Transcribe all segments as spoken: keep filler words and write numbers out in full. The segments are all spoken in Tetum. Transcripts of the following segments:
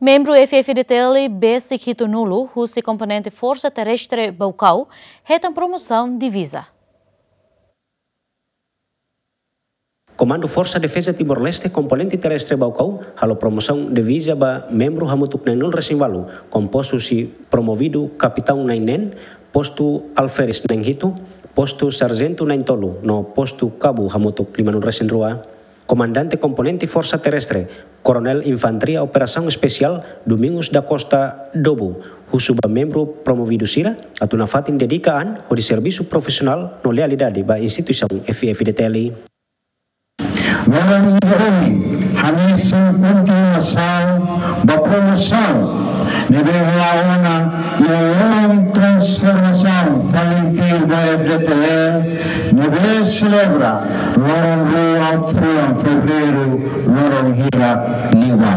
Membru F-FDTL besik hitunulu husi komponente Forsa Terrestre Baucau hetan promosaun diviza. Komandu Forsa Defeza Timor-Leste, komponente Terrestre Baucau, halo promosaun diviza ba membru hamutuk neenulu-resin-ualu, kompostu husi promovidu kapitaun na'in neen, postu alferes na'in hitu, postu sarjentu na'in tolu, no postu kabu hamutuk limanulu-resin-rua. Komandante komponente Forsa Terrestre, Koronel Infantaria Operasaun Espesiál Domingos da Costa Dobu, husu ba membru promovidu sira atu nafatin dedika an hodi servisu profisionál no lealdade ba instituisaun F-FDTL. Loron ida ohin hanesan kontinuasaun ba promosaun ne'ebé la'o ona iha loron transformasaun FALINTIL ba F-FDTL, ne'ebé selebra loron rua fulan Fevereiru, loron hirak liubá.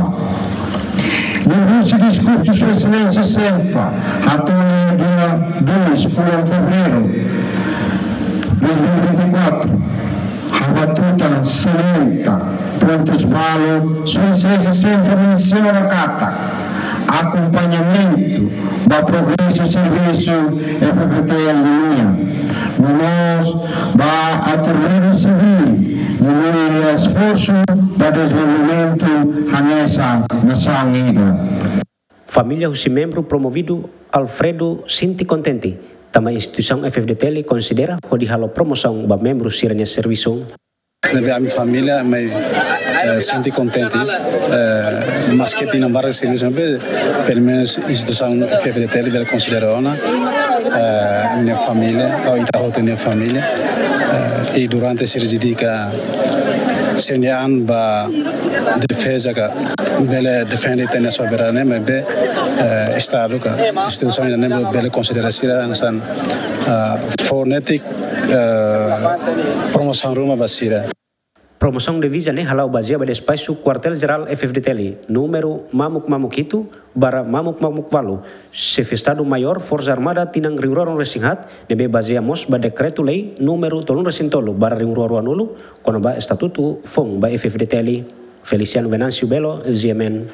Liuhusi diskursu Sua Exelénsia Selfa, hato'o iha dia dois fulan Fevereiru dois mil e vinte e quatro, habitual salienta pontus balu, Sua Exelénsia Selfa mensiona katak akompañamentu ba progresu servisu F-FDTL nian, no mós ba autoridade sivíl, no mós esforsu ba dezenvolvimentu hanesan nasaun ida. Família husi membru promovidu Alfredo sente kontente tanba instituisaun F-FDTL konsidera hodi halo promosaun ba membru sira-nia servisu. Ne'ebé ami família, ami, eh, sente kontente, eh, maske tinan barak servisu, maibé pelumenus instituisaun F-FDTL bele konsidera ona, eh, nia família, ou ita hotu nia família, eh, i durante sira dedika sira-nia an ba defeza ka bele defende ita-nia soberania, maibé, eh, Estadu ka instituisaun ida-ne'e bele konsidera sira hanesan, eh, fó netik, eh, promosaun ruma ba sira. Promosaun diviza ne'e hala'o bazeia ba despaxu Kuartél Jerál F-FDTL, númeru mamuk mamuk hitu barra mamuk mamuk ualu, Xefe Estadu Maiór Forsa Armada tinan rihun rua ruanulu-resin-haat, ne'ebé bazeia mós ba Dekretu-Lei númeru tolunulu-resin-tolu barra rihun rua ruanulu, kona-ba Estatutu foun ba F-FDTL. Feliciano Venâncio Belo, G M N.